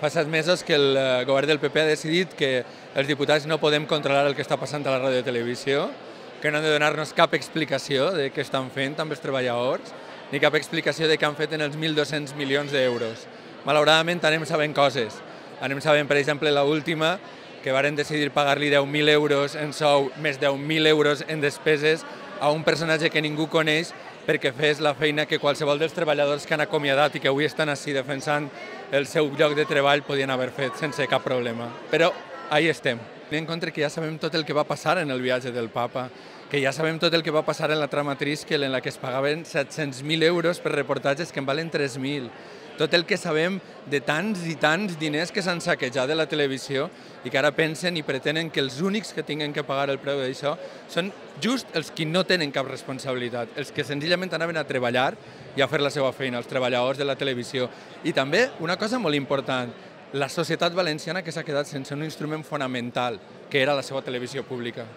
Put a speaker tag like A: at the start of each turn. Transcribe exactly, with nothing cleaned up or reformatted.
A: Fa set mesos que el govern del P P ha decidit que els diputats no podem controlar el que està passant a la ràdio i televisió, que no han de donar-nos cap explicació de què estan fent amb els treballadors, ni cap explicació de què han fet en els mil dos-cents milions d'euros. Malauradament anem sabent coses. Anem sabent, per exemple, l'última, que varen decidir pagar-li deu mil euros en sou, més deu mil euros en despeses a un personatge que ningú coneix perquè fes la feina que qualsevol dels treballadors que han acomiadat i que avui estan així defensant el seu lloc de treball podien haver fet sense cap problema. Però ahí estem. En compte que ja sabem tot el que va passar en el viatge del papa, que ja sabem tot el que va passar en la trama Triskel, en la que es pagaven set-cents mil euros per reportatges que en valen tres mil. Tot el que sabem de tants i tants diners que s'han saquejat de la televisió i que ara pensen i pretenen que els únics que tinguin que pagar el preu d'això són just els que no tenen cap responsabilitat, els que senzillament anaven a treballar i a fer la seva feina, els treballadors de la televisió. I també, una cosa molt important, la societat valenciana que s'ha quedat sense un instrument fonamental, que era la seva televisió pública.